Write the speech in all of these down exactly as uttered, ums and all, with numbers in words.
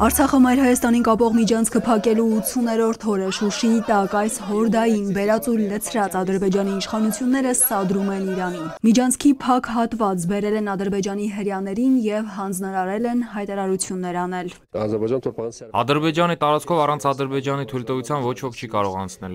Արցախը Մայր Հայաստանին կապող միջանցքը փակելու ութսուներորդ օրը Շուշիի տակ այս հորդային բերած ու լցրած Ադրբեջանի իշխանությունները սադրում են Իրանին։ Միջանցքի փակ հատված բերել են Ադրբեջանի հրյաներին եւ հանձնարարել են հայտարարություններ անել։ Ադրբեջանի տարածքով առանց Ադրբեջանի թույլտվության ոչ ոք չի կարող անցնել։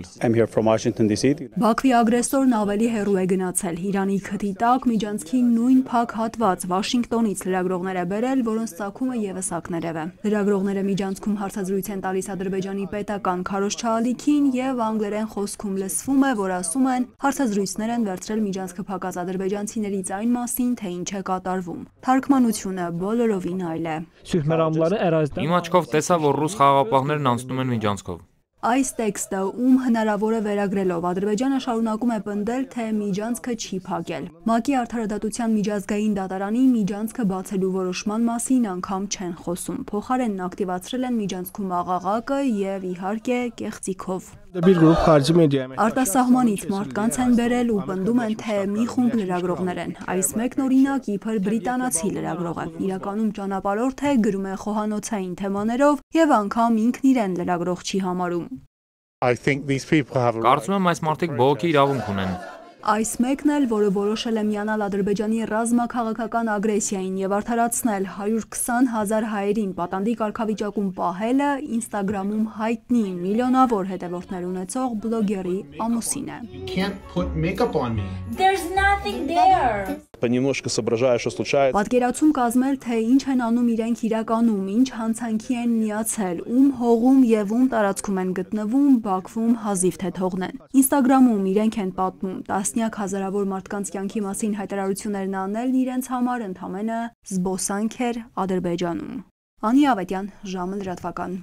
Բաքվի ագրեսորն ավելի հեռու է գնացել։ Իրանի քթի տակ միջանցքի նույն փակ հատված Վաշինգտոնից լրագրողներ է բերել, որոնց ծագումը եւս ակներև է։ Լրագրողները միջանցքում հարցազրույց են տալիս Ադրբեջանի պետական քարոզչալիքին եւ անգլերեն խոսքում լսվում է, որ ասում են հարցազրույցներ են վերցրել միջանցքը փակած ադրբեջանցիներից այն մասին, թե ինչ է կատարվում։ Թարգմանությունը բոլորովին այլ է։ Իմ աչքով տեսա, որ ռուս խաղաղապահներն անցնում են միջանցքով։ Այս տեքստը, ում հնարավոր է վերագրելով, Ադրբեջանը շարունակում է պնդել, թե միջանցքը չի փակել։ ՄԱԿ-ի Արդարադատության միջազգային դատարանի միջանցքը բացելու որոշման մասին անգամ չեն խոսում։ Փոխարենն ակտիվացրել են միջանցքում աղաղակը եւ իհարկե կեղծիքով։ Արտասահմանից մարդկանց են բերել ու պնդում են, թե մի խումբ լրագրողներ են։ Այս մեկն օրինակ իբր բրիտանացի լրագրող է։ Իրականում ճանապարհորդ է, գրում է խոհանոցային թեմաներով եւ անգամ ինքն իրեն լրագրող չի համարում։ Կարծում եմ այս մարդիկ բողոքի իրավունք ունեն։ Այս մեկն էլ, որը որոշել է միանալ Ադրբեջանի ռազմաքաղաքական ագրեսիային եւ արդարացնել հարյուր քսան հազար հայերին պատանդի կարգավիճակում պահելը, Ինստագրամում հայտնի միլիոնավոր հետևորդներ ունեցող բլոգերի ամուսին է։ Պատկերացում կազմել, թե ինչ են անում իրենք իրականում, ինչ հանցանքի են միացել, ում հողում եւ ում տարածքում են գտնվում, Բաքվում հազիվ թե թողնեն։ Ինստագրամում իրենք են պատմում տասնյակ հազարավոր մարդկանց կյանքի մասին հայտարարություններն անելն իրենց համար ընդամենը զբոսանք էր Ադրբեջանում։ Անի Ավետյան, ժամը լրատվական։